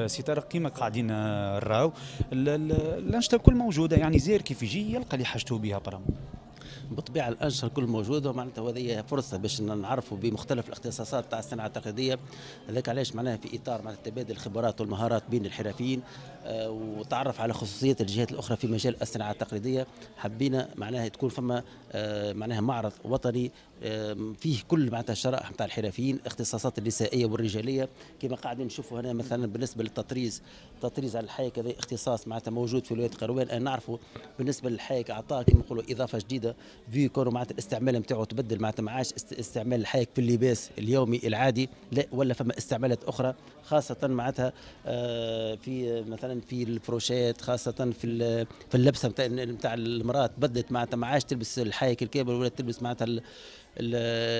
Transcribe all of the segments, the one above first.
سي طارق، كيما قاعدين نراو الانشطة الكل موجودة، يعني زير كيف يجي يلقى اللي حاجته بها برا. بالطبيعة الانشطة الكل موجودة، معناتها وهذه فرصة باش نعرفوا بمختلف الاختصاصات تاع الصناعة التقليدية. هذاك علاش معناها في اطار معناتها تبادل الخبرات والمهارات بين الحرفيين وتعرف على خصوصيات الجهات الاخرى في مجال الصناعة التقليدية. حبينا معناها تكون فما معناها معرض وطني فيه كل معناتها الشرائح نتاع الحرفيين، الاختصاصات النسائية والرجاليه كما قاعدين نشوفوا هنا. مثلا بالنسبة للتطريز، التطريز على الحايك هذا اختصاص معناتها موجود في ولاية قروان. نعرفوا بالنسبة للحايك اعطاه كما نقولوا اضافه جديدة، في كونه معناتها الاستعمال نتاعو تبدل، معناتها ما عادش استعمال الحايك في اللباس اليومي العادي، لا ولا فما استعمالات اخرى خاصة معناتها في مثلا في الفروشات، خاصة في اللبسه نتاع المراة تبدلت، معناتها ما عادش تلبس الحايك الكامل ولا تلبس معناتها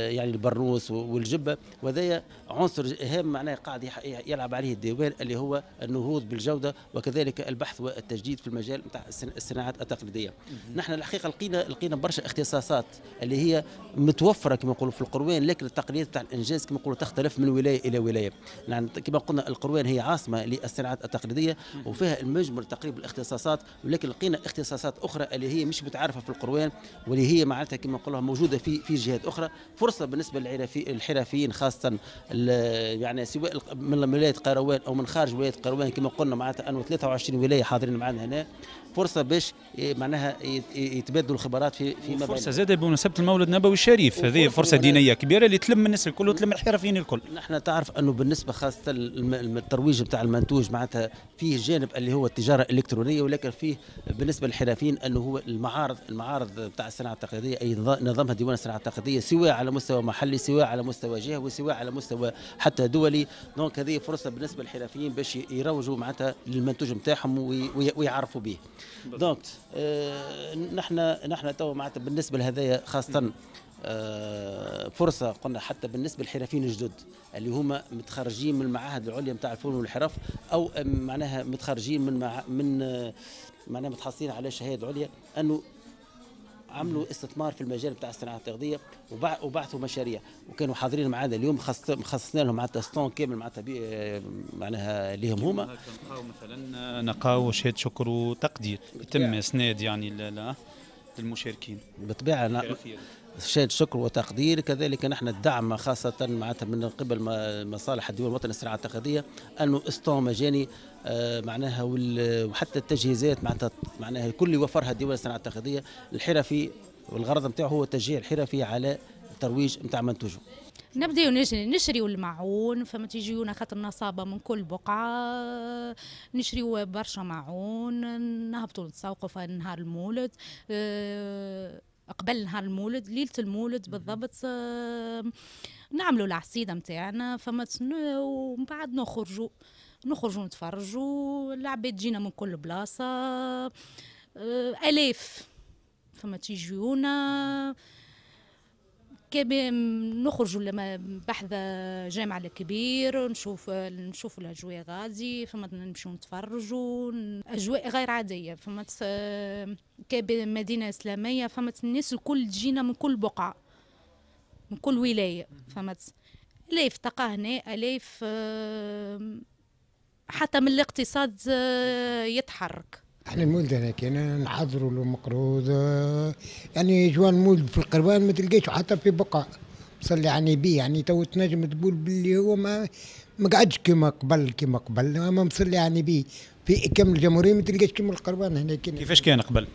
يعني البرنوس والجبه. وهذا عنصر هام معناه قاعد يلعب عليه الديوان اللي هو النهوض بالجودة وكذلك البحث والتجديد في المجال نتاع الصناعات التقليدية. نحن الحقيقة لقينا برشا اختصاصات اللي هي متوفرة كما نقولوا في القروان، لكن التقنيات تاع الانجاز كما نقولوا تختلف من ولاية الى ولاية. يعني كما قلنا القروان هي عاصمة للصناعات التقليدية وفيها المجمل تقريبا الاختصاصات، ولكن لقينا اختصاصات اخرى اللي هي مش متعارفه في القروان واللي هي معناتها كما نقولوا موجودة في جهات اخرى. فرصة بالنسبة للحرفيين خاصة يعني سواء من ولاية قروان او من خارج ولاية قروان، كما قلنا معناتها انه 23 ولاية حاضرين معنا هنا، فرصة باش معناها يتبادلوا الخبرات في ما فرصة زاده بمناسبة المولد النبوي الشريف، هذه فرصة دينية كبيرة اللي تلم الناس الكل وتلم الحرفيين الكل. نحن تعرف انه بالنسبة خاصة الترويج نتاع المنتوج معناتها فيه جانب اللي هو التجارة الالكترونية، ولكن فيه بالنسبة للحرفيين انه هو المعارض نتاع الصناعة التقليدية اي نظامها ديوان الصناعة التقليدية، سواء على مستوى محلي سواء على مستوى جهوي سواء على مستوى حتى دولي. donc هذه فرصة بالنسبة للحرفيين باش يروجوا معناتها للمنتوج نتاعهم ويعرفوا به. donc نحن تو معناتها بالنسبة لهذايا خاصة فرصة قلنا حتى بالنسبة للحرفيين الجدد اللي هما متخرجين من المعاهد العليا نتاع الفنون والحرف، او معناها متخرجين من معناها متحصلين على شهادة عليا، انه عملوا استثمار في المجال بتاع الصناعة التقليدية وبعثوا مشاريع وكانوا حاضرين معنا اليوم. خصصنا لهم معناتها stand كامل معناتها معناها ليهم هما. نلقاو مثلا نلقاو شهادة شكر وتقدير يتم اسناد يعني للمشاركين. بالطبيعة شهادة شكر وتقدير، كذلك نحن الدعم خاصة معناتها من قبل مصالح الديوان الوطني للصناعة التقليدية انه stand مجاني معناها، وحتى التجهيزات معناها الكل يوفرها الديوان الصناعة التقليدية الحرفي، والغرض نتاعو هو تشجيع الحرفي على الترويج نتاع منتوجه. نبداو نشريو المعون، فما تيجيونا خاطر نصابه من كل بقعة، نشريو برشا معون، نهبطوا نتسوقوا في نهار المولد، قبل نهار المولد ليلة المولد بالضبط، نعملوا العصيده نتاعنا فما، ومن بعد نخرجوا نتفرجوا، العباد تجينا من كل بلاصة، الاف فما تيجيونا. نخرجوا لما بحذا جامع الكبير نشوف الاجواء غادي، فما نمشيو نتفرجوا، اجواء غير عادية، فما كمدينه اسلامية، فما الناس الكل تجينا من كل بقعة من كل ولاية، فما الاف تلقى هنا الاف، حتى من الاقتصاد يتحرك. احنا المولد هنا كنا نحضروا له مقروض، يعني جوان المولد في القروان ما تلقاش حتى في بقعة صلي على النبي، يعني تو تنجم تقول باللي هو ما قعدش كما قبل، ما مصلي على النبي في كامل الجمهورية ما تلقاش كما القروان هنا. كيفاش كان قبل؟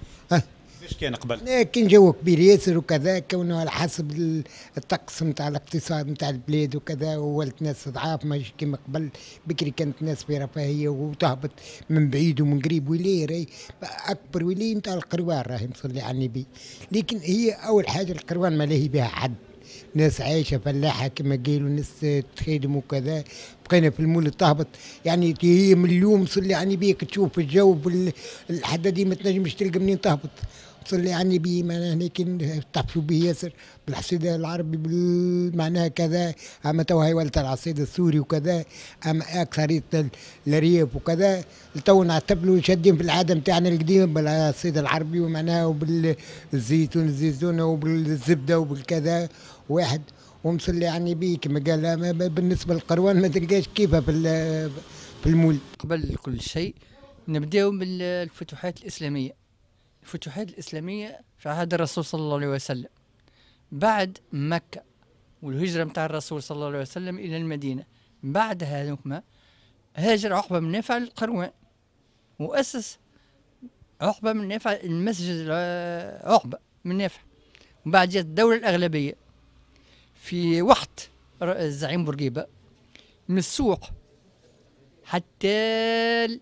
كيفاش كان قبل؟ كان جو كبير ياسر وكذا، كونه على حسب الطقس نتاع الاقتصاد نتاع البلاد وكذا، وولت ناس ضعاف ماشي كيما قبل. بكري كانت ناس في رفاهية وتهبط من بعيد ومن قريب، ولاية راهي اكبر ولاية نتاع القروان راهي مصلي على النبي. لكن هي اول حاجة القروان ما لاهي بها حد، ناس عايشه فلاحة كما قالوا، ناس تخدم وكذا. بقينا في المولد تهبط يعني هي من اليوم صلي على النبي تشوف الجو الحدادي ما تنجمش تلقى منين تهبط. صلي على النبي معناها لكن تحفوا به ياسر بالعصيد العربي معناها كذا، اما تو هي ولت العصيد السوري وكذا، اما اكثرية الريف وكذا تو نعتبروا شادين في العادة نتاعنا القديمة بالعصيد العربي ومعناها وبالزيتون الزيتونه وبالزبده وبالكذا واحد. ومصلي على النبي كما قال بالنسبة للقروان ما تلقاش كيفها في في المولد. قبل كل شيء نبداو بالفتوحات الإسلامية. الفتوحات الإسلامية في عهد الرسول صلى الله عليه وسلم، بعد مكة والهجرة متاع الرسول صلى الله عليه وسلم إلى المدينة. بعد هذوكما هاجر عقبة بن نافع للقروان، وأسس عقبة بن نافع المسجد عقبة بن نافع. وبعد جات الدولة الأغلبية في وقت الزعيم بورقيبة، من السوق حتى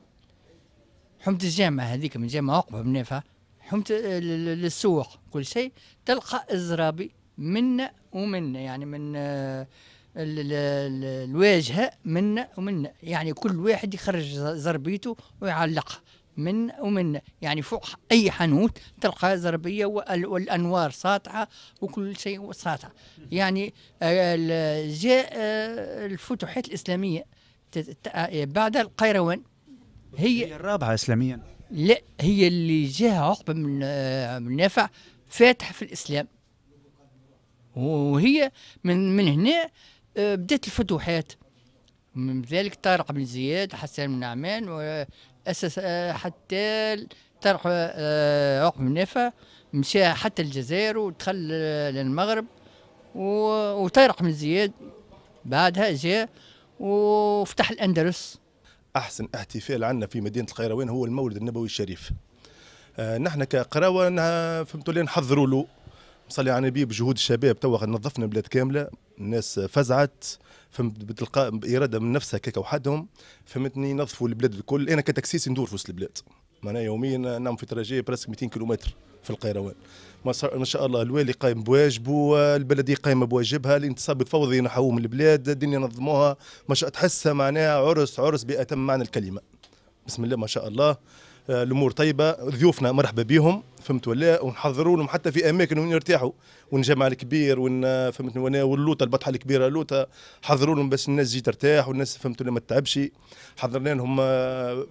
حومة الجامعة هذيك، من جامعة عقبة بن نافع حومة للسوق كل شيء تلقى الزرابي منا ومنا، يعني من الواجهة منا ومنا، يعني كل واحد يخرج زربيته ويعلقها من ومن، يعني فوق أي حانوت تلقى زربية والأنوار ساطعة وكل شيء ساطع. يعني جاء الفتوحات الإسلامية بعد القيروان، هي الرابعة إسلاميا. لا، هي اللي جاء عقبة من نافع فاتح في الإسلام، وهي من هنا بدأت الفتوحات. من ذلك طارق بن زياد، حسان بن نعمان، وأسس حتى طارق عقبة بن نافع مشى حتى الجزائر ودخل للمغرب، وطارق بن زياد بعدها جاء وفتح الأندلس. أحسن احتفال عندنا في مدينة القيروان هو المولد النبوي الشريف. نحن كقراوة فهمتوا لي نحضروا له، صلي على النبي، بجهود الشباب توا نظفنا البلاد كاملة، الناس فزعت فهمت بتلقاء بإرادة من نفسها كيكا وحدهم، فهمتني، نظفوا البلاد الكل. أنا ك taxiste ندور في وسط البلاد، معناها يوميا نعمل في trajet presque 200 كيلومتر في القيروان. ما شاء الله الوالي قايم بواجبه، البلدية قايمة بواجبها، الانتصاب الفوضي نحوه من البلاد، الدنيا نظموها، ما شاء تحسها معناها عرس عرس بأتم معنى الكلمة. بسم الله ما شاء الله، الامور طيبة، ضيوفنا مرحبا بهم فهمت ولا، ونحضروا لهم حتى في اماكن وين يرتاحوا، ونجمع الكبير ون فهمتني واللوطه البطحه الكبيرة لوطه حضروا لهم باش الناس تجي ترتاح والناس فهمت ولا ما تتعبش. حضرنا لهم،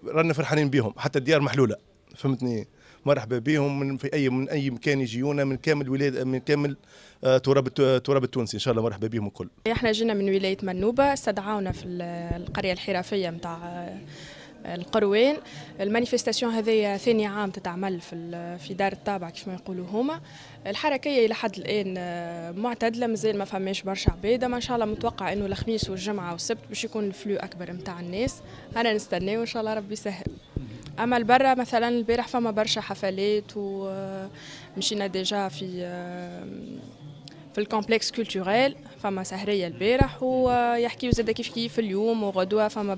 رانا فرحانين بهم، حتى الديار محلولة فهمتني، مرحبا بهم من في اي من اي مكان يجيونا، من كامل ولاية، من كامل تراب التونسي ان شاء الله مرحبا بهم الكل. احنا جينا من ولاية منوبه، استدعونا في القرية الحرفية نتاع القروان. ال manifestation هذه ثاني عام تتعمل في دار الطابع كيف ما يقولوا هما. الحركية الى حد الان معتدلة، مازال ما فماش برشا عباد، ما ان شاء الله متوقع انه الخميس والجمعة والسبت باش يكون ال flux اكبر نتاع الناس. انا نستناو وان شاء الله ربي يسهل. اما البرة مثلا البارح فما برشا حفلات، ومشينا déjà في ال complexe culturel فما سهريه البارح، ويحكيو زاد كيف كيف اليوم وغدوه فما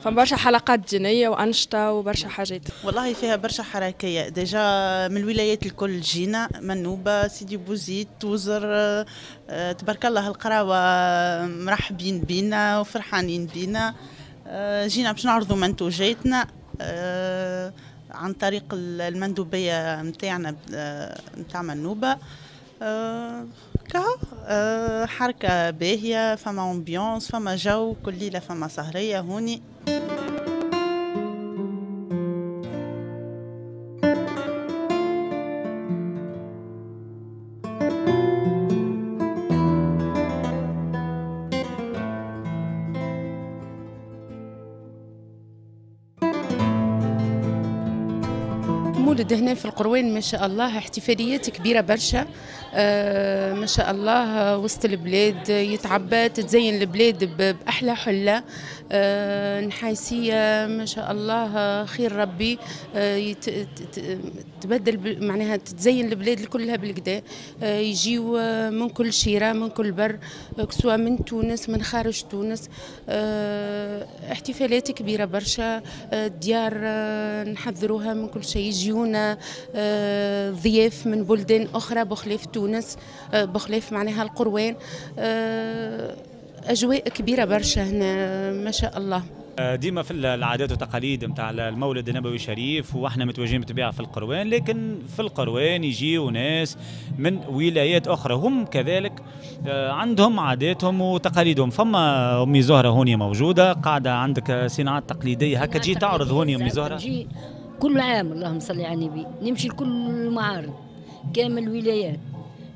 برشا حلقات دينية وانشطه وبرشا حاجات. والله فيها برشا حركية déjà من الولايات الكل جينا، منوبه، سيدي بوزيد، توزر، تبارك الله القراوه مرحبين بينا وفرحانين بينا. جينا باش نعرضوا منتوجاتنا عن طريق المندوبية نتاعنا نتاع منوبة. حركة باهية، فما ambiance، فما جو، كل ليلة فما سهرية هوني. مولد هنا في القروان ما شاء الله احتفاليات كبيرة برشا، ما شاء الله وسط البلاد يتعبى، تتزين البلاد بأحلى حلة، نحاسية ما شاء الله، خير ربي، تبدل معناها تتزين البلاد كلها بالكدا، يجيو من كل شيرة من كل بر، سواء من تونس من خارج تونس، احتفالات كبيرة برشا، ديار نحضروها من كل شيء، يجيونا ضياف من بلدان أخرى بخلاف تونس، بخلاف معناها القروان، أجواء كبيرة برشا هنا ما شاء الله. ديما في العادات والتقاليد نتاع المولد النبوي الشريف، واحنا متواجدين بالطبيعة في القروان، لكن في القروان يجيو ناس من ولايات اخرى هم كذلك عندهم عاداتهم وتقاليدهم. فما امي زهره هوني موجودة قاعدة، عندك صناعات تقليدية هكا تجي تعرض هوني امي زهره؟ تجي كل عام، اللهم صل على النبي، نمشي لكل المعارض كامل الولايات،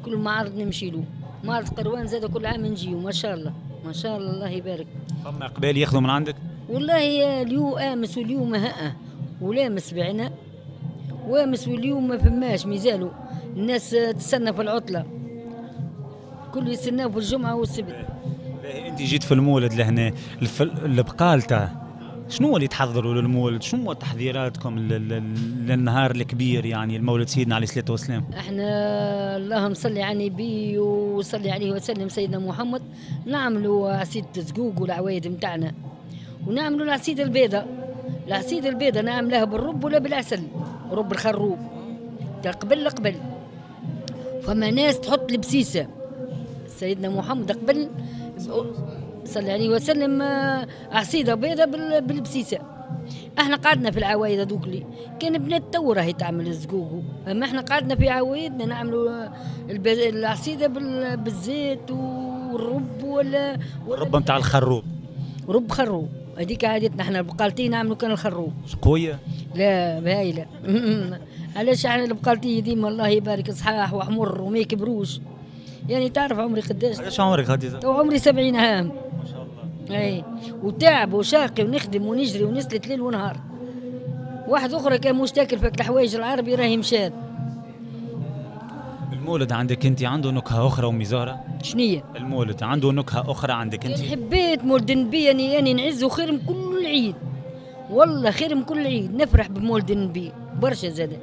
كل معرض نمشي له، معرض قروان زاد كل عام نجيو ما شاء الله ما شاء الله الله يبارك. فما قبال ياخذوا من عندك؟ والله اليوم امس واليوم ها ولامس بعنا وامس واليوم ما فماش، مازالوا الناس تستنى في العطلة، كل يستناو في الجمعة والسبت. انت جيت في المولد لهنا، البقالته شنو اللي تحضروا للمولد؟ شنو تحضيراتكم للنهار الكبير يعني المولد سيدنا عليه الصلاة والسلام؟ احنا اللهم صل على النبي وصلي عليه وسلم سيدنا محمد، نعملوا عصيدة الزقوق والعوايد نتاعنا، ونعملوا العصيدة البيضاء. العصيدة البيضاء نعملها بالرب ولا بالعسل، رب الخروب قبل قبل. فما ناس تحط البسيسة، سيدنا محمد قبل صلى عليه وسلم عصيده بيضاء بالبسيسه. احنا قعدنا في العوايد هذوك اللي كان بنات تو راهي تعمل الزقوق، اما احنا قعدنا في عوايدنا نعملوا العصيده بالزيت والرب ولا الرب نتاع الخروب، رب خروب هذيك عادتنا احنا البقالتين نعملوا كان الخروب. قوية؟ لا هايلة. علاش احنا البقالتين ديما الله يبارك صحاح وحمر وما يكبروش. يعني تعرف عمري قداش؟ قداش عمرك خديجة؟ تو عمري 70 عام. ما شاء الله. اي وتعب وشاقي ونخدم ونجري ونسلت ليل ونهار. واحد اخرى كان مش تاكل فك الحوايج العربي راهي مشات. المولد عندك انت عنده نكهة اخرى امي زهره؟ شنية؟ المولد عنده نكهة اخرى عندك انت؟ حبيت مولد النبي يعني نعزه خير من كل عيد. والله خير من كل عيد، نفرح بمولد النبي برشا زاد.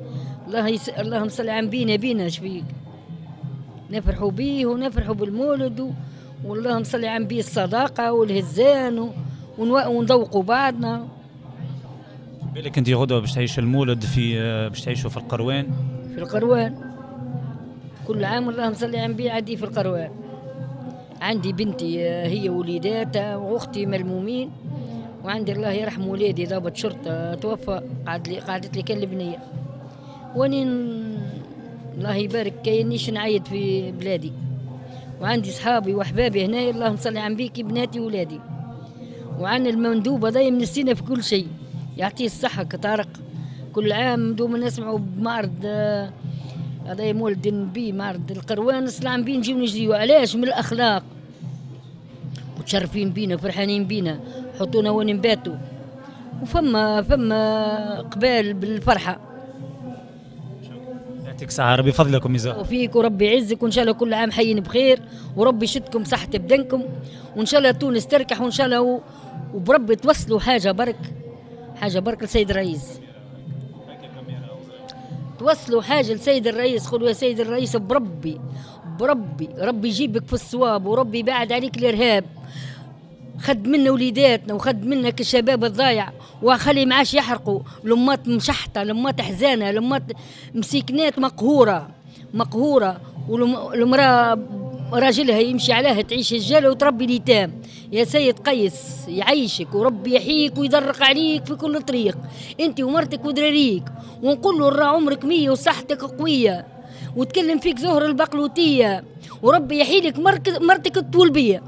اللهم صل على بينا بينا شبيك. نفرحوا بيه ونفرحوا بالمولد واللهم صل على النبي الصداقة والهزان ونذوقوا بعضنا. بالك انت غدوه باش تعيش المولد في باش تعيشوا في القروان؟ في القروان كل عام اللهم صل على النبي عندي في القروان. عندي بنتي هي وليداتها واختي ملمومين، وعندي الله يرحم ولادي ضابط شرطه توفى، قعدت لي كان البنية. واني الله يبارك كاينيش نعيد في بلادي، وعندي صحابي واحبابي هنا اللهم صل على النبي كي بناتي وولادي. وعن المندوب هذا منسينا في كل شيء، يعطيه الصحة كطارق. كل عام دوما نسمعوا بمعرض هذا مولد النبي معرض القروان صلى على النبي نجيو نجريو. علاش؟ من الاخلاق، متشرفين بينا فرحانين بينا، حطونا وين نباتوا، وفما فما قبال بالفرحه. يعطيك الصحة، ربي يفضلكم يا وفيك وربي يعزك، وإن شاء الله كل عام حيين بخير، وربي يشدكم صحة بدنكم، وإن شاء الله تونس تركح، وإن شاء الله وبربي توصلوا حاجة برك، حاجة برك لسيد الرئيس. توصلوا حاجة لسيد الرئيس، قولوا يا سيد الرئيس بربي بربي ربي يجيبك في الصواب، وربي يبعد عليك الإرهاب. خد منا وليداتنا وخد منا الشباب الضايع، وخلي معاش يحرقوا لمات مشحطه، لمات حزانه، لمات مسيكنات مقهوره مقهوره، والمراة راجلها يمشي عليها تعيش الجاله وتربي اليتام. يا سيد قيس يعيشك وربي يحييك ويدرق عليك في كل طريق، انت ومرتك ودراريك، ونقول له راه عمرك 100 وصحتك قوية، وتكلم فيك زهر البقلوتيه، وربي يحيلك مرتك الطولبيه.